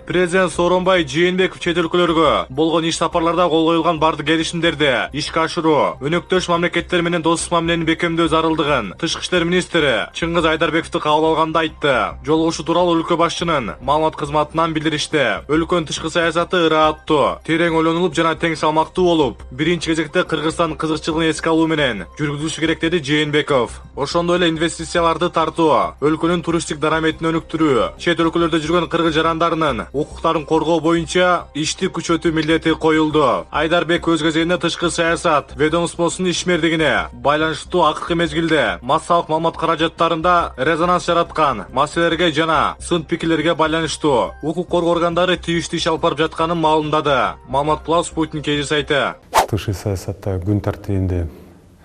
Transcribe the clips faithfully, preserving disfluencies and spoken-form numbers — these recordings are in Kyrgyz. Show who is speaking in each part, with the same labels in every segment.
Speaker 1: Президент Сооронбай Жээнбеков чет өлкөлөргө болгон иш сапарларда кол коюлган бардык келишимдерди ишке ашыруу, өнөктөш мамлекеттер менен достук мамилени бекемдөө зарылдыгын Тышкы иштер министри Чыңгыз Айдарбековду кабыл алганда айтты. Жолугушуу тууралуу өлкө башчынын маалымат кызматынан билдиришти. Өлкөнүн тышкы саясаты ырааттуу, терең ойлонулуп жана тең салмактуу болуп, биринчи кезекте Кыргызстан кызыкчылыгын эске алуу менен жүргүзүлүшү керек деди Жээнбеков. Ошондой эле инвестицияларды тартуу, өлкөнүн туристтик дараметин өнүктүрүү, чет өлкөлөрдө жүргөн кыргыз жарандарынын укуктарын коргоо боюнча ишти күчөтүү милдети коюлду. Айдарбек өз кезегинде тышкы саясат ведомствосунун ишмердигине байланыштуу акыркы мезгилде массалык маалымат каражаттарында резонанс жараткан маселелерге жана сын пикирлерге байланыштуу укук коргоо органдары тийиштүү иш алып барып жатканын маалымдады. Маалымат Плюс Спутник кей жи сайты.
Speaker 2: Тышкы саясатта күн тартибинде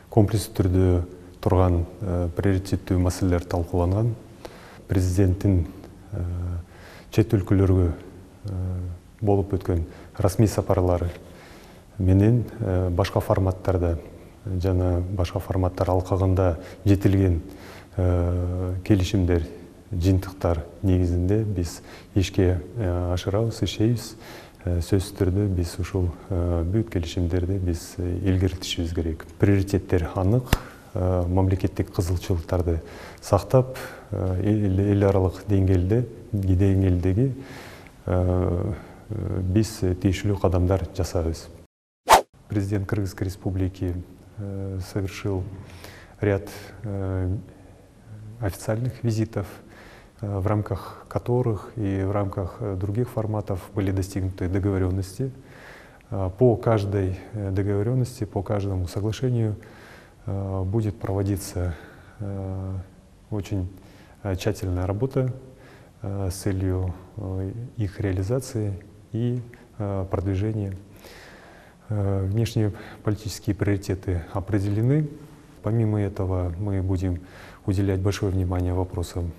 Speaker 2: комплекстүү түрдө турган приоритеттүү маселелер талкууланган. Президенттин чет өлкөлөргө болуп өткөн расмий сапарлары менен башка форматтарда жана башка форматтар алкагында жетилген келишимдер, жыйынтыктар негизинде биз ишке ашырабыз, иштейбиз. Сөзсүз түрдө биз ушул бүт келишимдерди биз илгертишибиз керек. Приоритеттер анык, мамлекеттик кызыкчылыктарды сактап, эл аралык деңгээлде деңгээлдеги биз тийиштүү кадамдар жасайбыз. Президент Кыргызской Республики совершил ряд официальных визитов, в рамках которых и в рамках других форматов были достигнуты договоренности. По каждой договоренности, по каждому соглашению будет проводиться очень тщательная работа с целью их реализации и продвижения. Внешнеполитические приоритеты определены. Помимо этого мы будем уделять большое внимание вопросам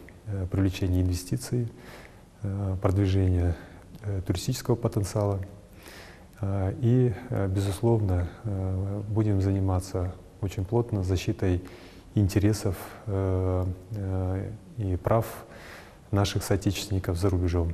Speaker 2: привлечения инвестиций, продвижения туристического потенциала и, безусловно, будем заниматься очень плотно защитой интересов и прав наших соотечественников за рубежом.